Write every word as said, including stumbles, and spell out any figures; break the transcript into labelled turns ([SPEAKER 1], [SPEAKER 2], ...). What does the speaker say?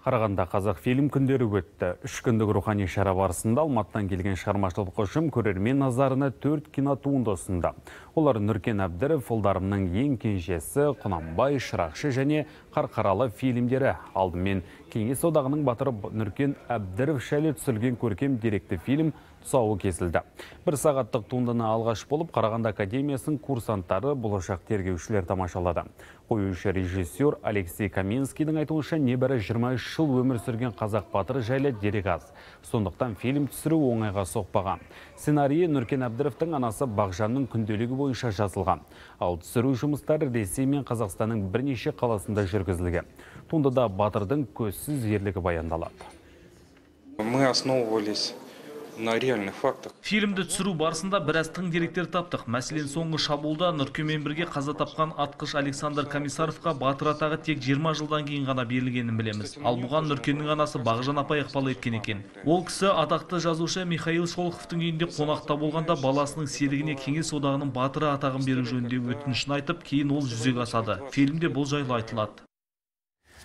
[SPEAKER 1] Қарағанда қазақ фильм күндері өтті. Үш күндік рухани шара барысында Алматыдан келген шығармашылық ұжым көрермен назарына төрт кинотуынды ұсынды. Олар Нұркен Әбдіров, Ұлдарымның ең кенжесі, Құнанбай, Шырақшы және Қарқаралы фильмдері. Алдымен Кеңес одағының батыры Нұркен Әбдіров шәлі түсірген көркем деректі фильм тұсауы кесілді. Бір сағаттық туындыны алғаш болып Қарағанды академиясының курсанттары, болашақ тергеушілер тамашалады. Қоюшы режиссер Алексей Каменскийдің айтуынша небәрі жиырма үш жыл өмір сүрген қазақ батыры жайлы дерек аз. Сондықтан фильм түсіру оңайға соқпаған. Сценарийі Нұркен Әбдіровтың анасы Бағжанның күнделігі бойынша жазылған. Ал түсіру жұмыстары Ресей мен Қазақстанның бірнеше қаласында жүргізілген. Туындыда батырдың көзсіз ерлігі баяндалады.
[SPEAKER 2] Мы основывались на реальных фактах.
[SPEAKER 3] Фильмді түсіру барысында біраз тың деректер таптық. Мәселен, соңғы шабуылда Нұркенмен бірге қаза тапқан атқыш Александр Комиссаровқа батыр атағы тек жиырма жылдан кейін ғана берілгенін білеміз. Ал бұған Нұркеннің анасы Бағжан апай ықпал еткен екен. Ол кісі атақты жазушы Михаил Шолоховтың үйінде қонақта болғанда баласының серігіне Кеңес одағының батыры атағын беру жөнінде өтінішін айтып, кейін ол жүзеге асады. Фильмде бұл жайлы айтылады.